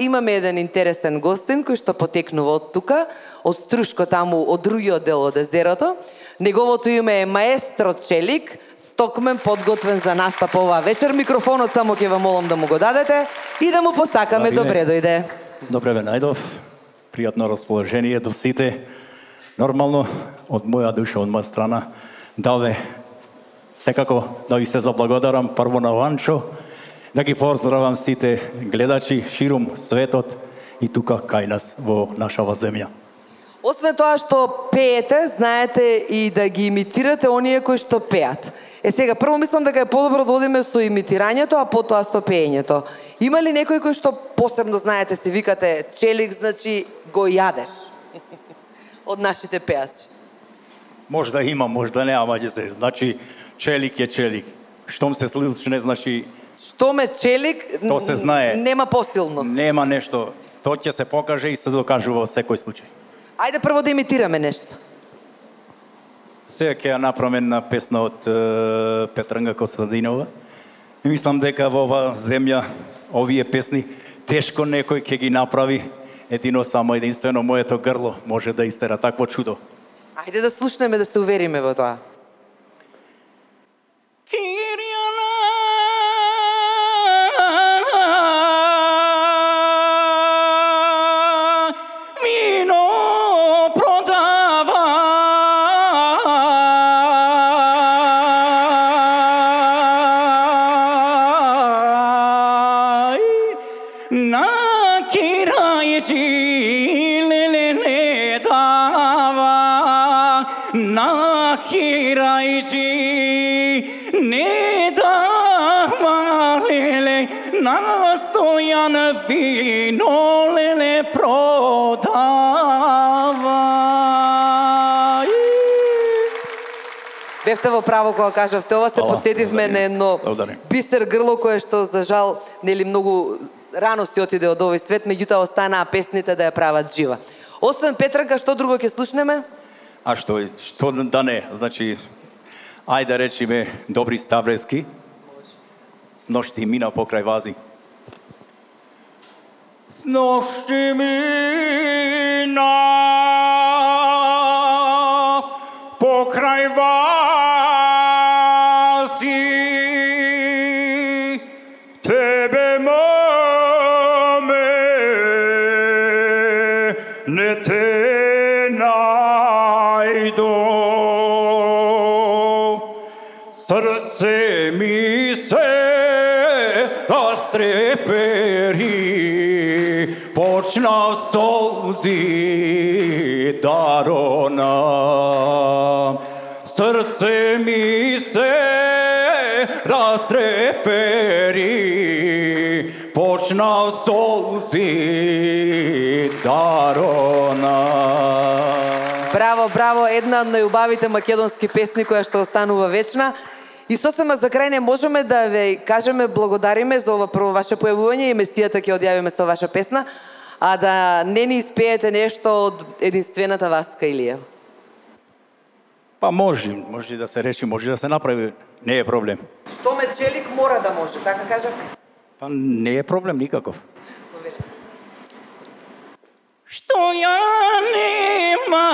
Имаме еден интересен гостин кој што потекнува од тука, од Струшко таму, од другиот дел од езерото. Неговото име е Маестро Челик, стокмен подготвен за настап оваа вечер. Микрофонот само ќе вам молам да му го дадете и да му посакаме добре дојде. Добре ве најдов. Пријатно расположение до сите. Нормално од моја душа, од моја страна, да ве секако да ви се заблагодарам прво на Ванчо, да ги поздравам сите гледачи ширум светот и тука кај нас во нашава земја. Освен тоа што пеете, знаете и да ги имитирате оние кои што пеат. Сега, прво мислам дека е подобро да одиме со имитирањето, а потоа со пеењето. Има ли некој кој што посебно знаете, се викате Челик, значи го јадеш од нашите пеачи? Можда има, можда не, ама ќе се. Значи, Челик е Челик. Штом се слушне, значи... Штом е Челик, то се знае. Нема посилно. Нема нешто. Тоа ќе се покаже и се докажува во секој случај. Ајде прво да имитираме нешто. Сега ќе ја направам една песна од Петранга Костадинова. И мислам дека во оваа земја овие песни тешко некој ќе ги направи. Едино само единствено моето грло може да истера такво чудо. Ајде да слушнеме, да се увериме во тоа. Бевте во право кога кажавте ова, се подсетивме на едно бисер грло кое што за жал нели многу рано си отиде од овој свет, меѓутоа останаа песните да ја прават жива. Освен Петранка, што друго ќе слушнеме? А што да не, значи ајде речиме Добри Ставрески. С ношти мина покрај вази. С ношти мина покрај вази, тебе маме не те најдо, срце ми се растрепери, почнав солзи да ронам. Срце ми се растрепери, почнав солзи да ронам. Браво, браво, една од најубавите македонски песни која што останува вечна. И сосема за крај не можеме да ве кажеме благодариме за ова прво ваше појавување и месијата ќе одјавиме со ваша песна, а да не ни испеете нешто од единствената Васка Илиева. Па може да се реши, може да се направи, не е проблем. Што ме Челик мора да може, така кажав? Па не е проблем никаков. Што ја нема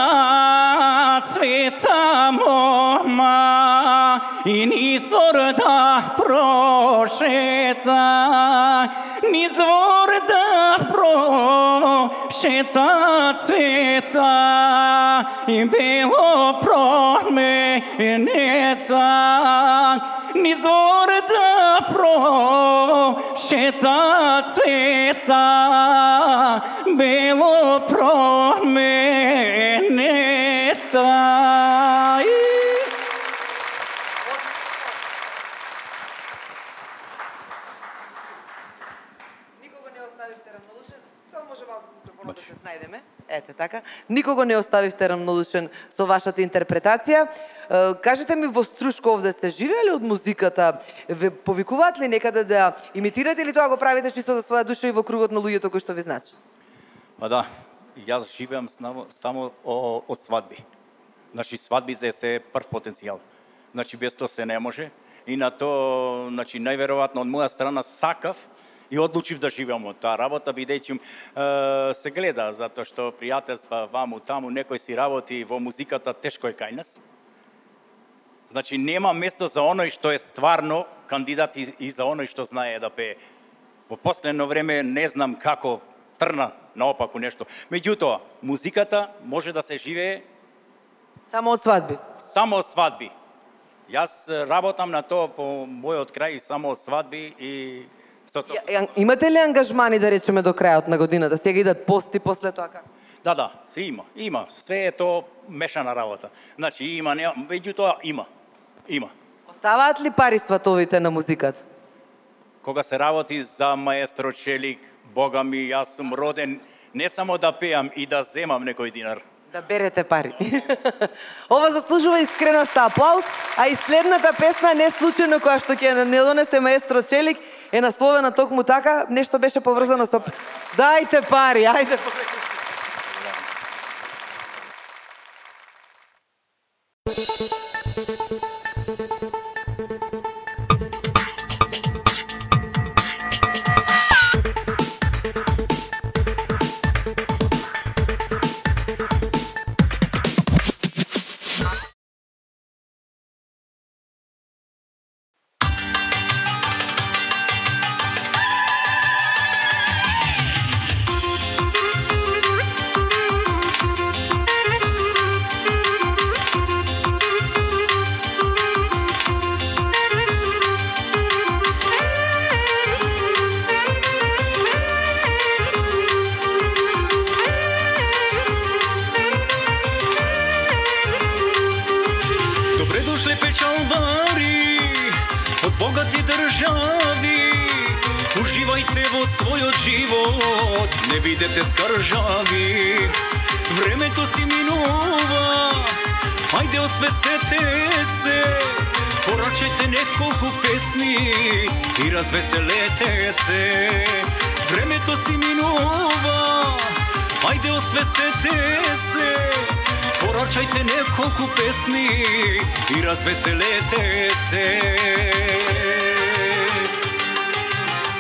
цвета мома и низ двор да прошета, низ двор да прошета цвета и бело променета, низ двор да прошета цвета бело променета. Никого не оставивте равнодушен, само може малку микрофонот да се снајдеме. Ете така. Никого не оставивте равнодушен со вашата интерпретација. Кажете ми, во Струшко овде сте живеели од музиката? Ве повикуваат ли некаде да имитирате или тоа го правите чисто за своја душа и во кругот на луѓето кои што ви значат? Па да, јас живеам само од свадби. Значи свадбите се прв потенцијал. Значи без тоа се не може. И на тоа, значи најверојатно од моја страна сакав и одлучив да живеам од таа работа, бидејќи се гледа, затоа што пријателства ваму таму, некој си работи во музиката, тешко е кај нас. Значи, нема место за оној што е стварно кандидат и за оној што знае да пее. Во последно време не знам како трна наопаку нешто. Меѓутоа, музиката може да се живее Само од свадби. само од свадби. Јас работам на тоа по мојот крај само од свадби и Имате ли ангажмани, да речеме, до крајот на годината? Сега идат пости, после тоа како? Да, се има. Све е тоа мешана работа. Значи има, меѓутоа има. Оставаат ли пари сватовите на музиката? Кога се работи за маестро Челик, Бога ми, јас сум роден не само да пеам и да земам некој динар. Да берете пари. Ова заслужува искреноста аплауз, а и следната песна не случајно која што ќе не донесе маестро Челик е насловена токму така, нешто беше поврзано со Дајте пари, ајде. богати држави, уживајте во својот живот, не бидете скржави. Времето си минува, ајде освестете се, порачајте неколку песни и развеселете се. Времето си минува, ајде освестете се, порачајте неколку песни и развеселете се.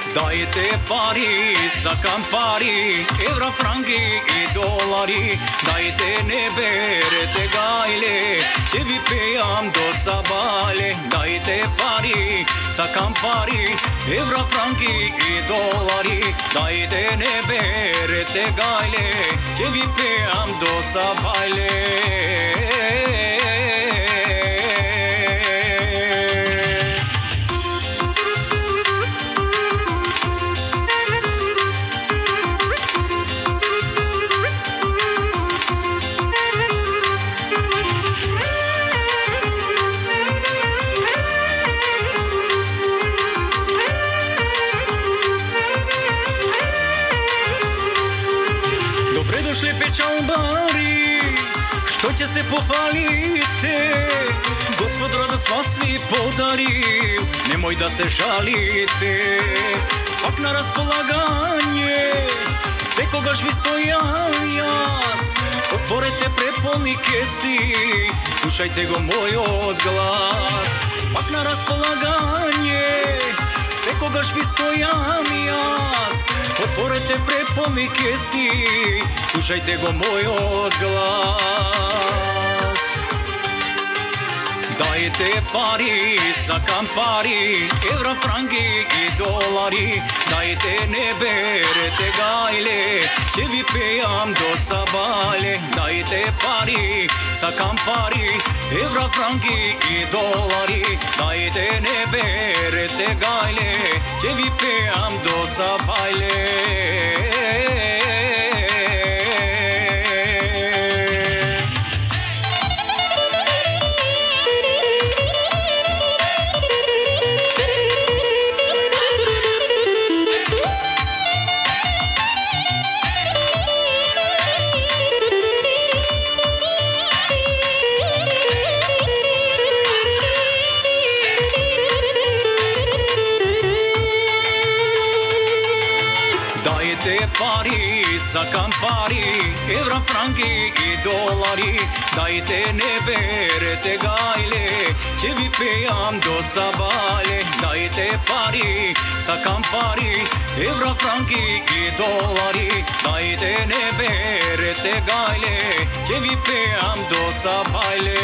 Дајте пари, сакам пари, евра, франги и долари. Дајте, не берете гајле, ќе ви пеам до сабале. Дајте пари, сакам пари, евра, франги и долари. Дајте, не берете гајле, ќе ви пеам до сабале. Печалбари, што ќе се пофалите, Господ радост вас ви подарил, немој да се жалите. Пак на располагање, секогаш ви стојам јас. Отворете преполни кеси, слушајте го мојот глас. Пак на располагање, секогаш ви стојам јас. Отворете преполни кеси, слушајте го мојот глас. Дајте пари, сакам пари, евра, франги и долари. Дајте, не берете гајле, ќе ви пеам до сабале. Дајте пари, сакам пари, евра, франги и долари. Дајте, не берете гајле, ќе ви пеам до сабале. Дајте сакам пари, евра, франки и долари. Дайте не берете гајле, ќе ви пејам до сабале. Дайте пари, сакам пари, евра, франки и долари. Дайте не берете гајле, ќе ви пејам до сабале.